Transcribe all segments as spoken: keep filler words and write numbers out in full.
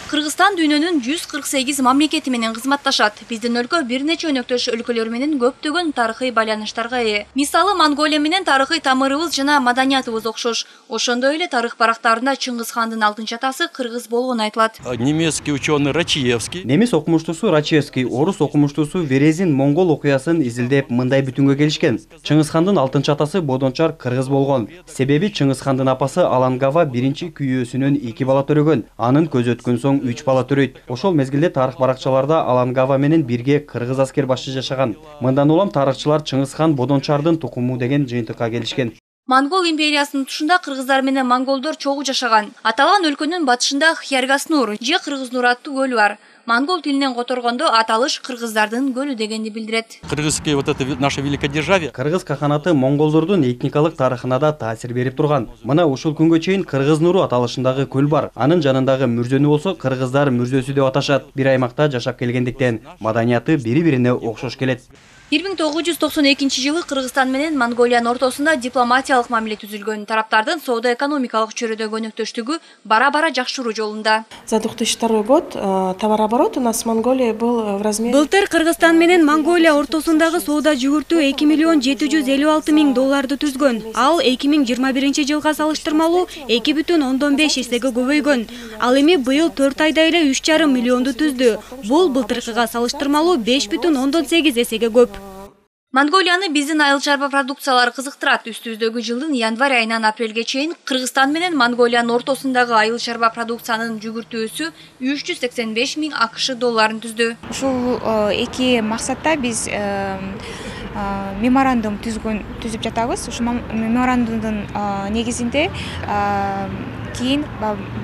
Кыргызстан дүйнөнүн жүз кырк сегиз мамлекети менен кызматташат. Биздин өлкө бир нече өнөктөш өлкөлөр менен көптөгөн тарыхый байланыштарга ээ. Мисалы, Монголия менен тарыхый тамырыбыз жана маданиятыбыз окшош. Ошондой эле тарых барактарында Чыңгыз хандын алтынчы атасы кыргыз болгону айтылат. Немецкий ученый Рачиевский. Немис окумуштуусу Рачиевский, орус окумуштуусу Верезин монгол окуясын изилдеп мындай бүтүнгө келишкен. Чыңгыз хандын алтынчы атасы Бодончар кыргыз болгон. Себеби Чыңгыз хандын апасы Алангава биринчи күйөөсүнөн эки бала төрөгөн. Анын көзү өткөн соң үч бала төрөйт. Ошол мезгилде тарых баракчаларда Алангава менен бирге кыргыз аскер башчы жашаган. Мындан улам тарыхчылар Чыңгыз хан Бодончардын тукуму деген жыйынтыкка келишкен. Монгол империясынын тушунда кыргыздар менен монголдор чогуу жашаган. Аталган өлкөнүн батышында Хяргаснур же Кыргызнур аттуу көлү бар. Монгол тилинен которгондо аталыш кыргыздардын көлү дегенди билдирет. Кыргызский вот это наше великодержавие. Кыргыз каханаты монголдордун этникалык тарыхына да таасир берип турган. Мына ушул күнгө чейин Кыргызнуру аталышындагы көл бар. Анын жанындагы мүрзөнү болсо кыргыздар мүрзөсү деп аташат. Бир аймакта жашап келгендиктен маданияты бири-бирине окшош келет. бир миң тогуз жүз токсон экинчи жылы Кыргызстан менен Монголиянын ортосунда дипломатиялык мамиле түзүлгөн. Тараптардын соода-экономикалык чөйрөдө өнөктөштүгү бара-бара жакшыруу жолунда. За две тысячи второй год товарооборот у нас с Монголией был в размере. Былтыр Кыргызстан менен Монголия ортосундагы соода жүгүртүү эки миллион жети жүз элүү алты миң долларды түзгөн. Ал эки миң жыйырма биринчи жылга салыштырмалуу эки бүтүн ондон беш эсеге көбөйгөн. Ал эми быйыл төрт айда эле үч жарым миллионду түздү. Бул былтыркыга салыштырмалуу беш бүтүн ондон сегиз эсеге көп. Монголияны биздин айыл чарба продукциялары кызыктырат. Үстүбүздөгү жылдын январь айынан апрелге чейин Кыргызстан менен Монголиянын ортосундагы айыл чарба продукциянын жүгүртүүсү үч жүз сексен беш миң акш долларын түздү. Ушул эки максатта биз меморандум түзгөн түзүп жатабыз. Ушул меморандумдун негизинде кийин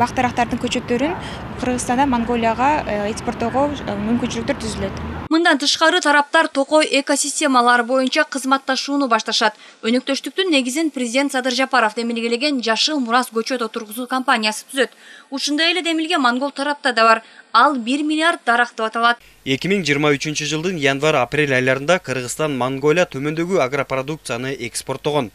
бактарактардын көчөттөрүн Кыргызстандан Монголияга экспорттоого мүмкүнчүлүктөр түзүлөт. Мындан тышкары тараптар токой экосистемалар боюнча кызматташууну башташат. Өнөктөштүктүн негизин президент Садыр Жапаров демилгелеген Жашыл Мурас көчөт отургузуу компаниясы түзөт. Ушундай эле демилге монгол тарапта да бар. Ал бир миллиард дарак деп аталат. эки миң жыйырма үчүнчү жылдын январь-апрель айларында Кыргызстан Монголия төмөндөгү агропродукцияны экспорттогон.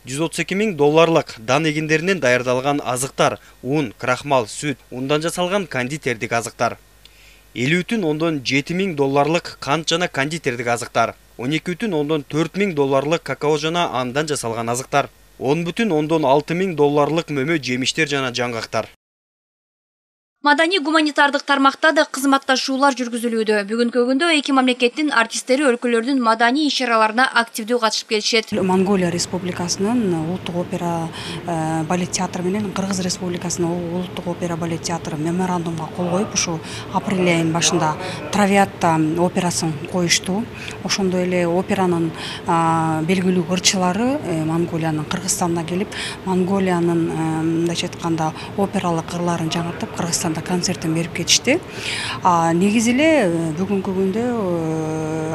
жүз отуз эки миң долларлык дан эгиндеринен даярдалган азыктар, ун, крахмал, сүт, ундан жасалган кондитердик азыктар. элүү бүтүн ондон жети миң долларлык кант жана кондитердик азыктар, он эки бүтүн ондон төрт миң долларлык какао жана андан жасалган азыктар, он бүтүн ондон алты миң долларлык мөмө жемиштер жана жаңгактар. Маданий гуманитардык тармакта да кызматташуулар жүргүзүлүүдө. Бүгүнкү күндө эки мамлекеттин артисттери өлкөлөрдүн маданий иш-чараларына активдүү катышып келишет. Монголия Республикасынын улуттук опера балет театры менен Кыргыз Республикасынын улуттук опера балет театры меморандумга кол коюп, ушу апрель айынын башында Травиатта операсын коюшту. Ошондой эле операнын белгилүү ырчылары Монголиянын Кыргызстанына келип, Монголиянын мындайча айтканда опералык ырларын жаңыртып, Кыргызстан концертин берип кетишти. Негизи эле бүгүнкү күндө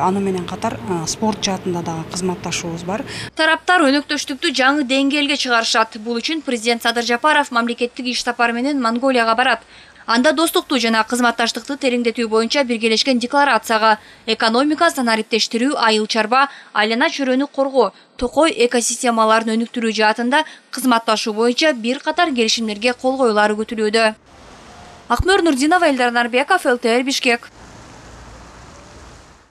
аны менен катар спорт жаатында дагы кызматташуубуз бар. Тараптар өнөктөштүктү жаңы деңгээлге чыгарышат. Бул үчүн президент Садыр Жапаров мамлекеттик иш сапары менен Монголияга барат. Анда достукту жана кызматташтыкты тереңдетүү боюнча биргелешкен декларацияга экономика, санариптештирүү, айыл чарба, айлана чөйрөнү коргоо, токой экосистемаларын өнүктүрүү жаатында кызматташуу боюнча бир катар келишимдерге кол коюлары күтүлүүдө. Акмөр Нурдинова, Элдар Нарбеков, эл тэ эр Бишкек.